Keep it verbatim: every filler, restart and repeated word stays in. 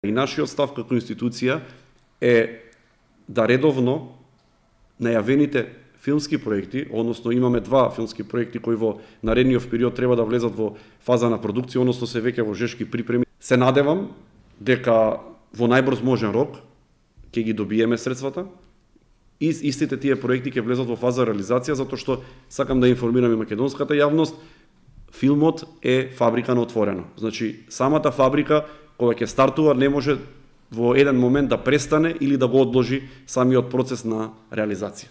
И нашиот став како институција е да редовно најавените филмски проекти, односно имаме два филмски проекти кои во наредниот период треба да влезат во фаза на продукција, односно се веќе во жешки припреми. Се надевам дека во најбрз можен рок ќе ги добиеме средствата и истите тие проекти ќе влезат во фаза реализација, затоа што сакам да информирам и македонската јавност, филмот е фабрика на отворено. Значи, самата фабрика кога ќе стартува не може во еден момент да престане или да го одложи самиот процес на реализација.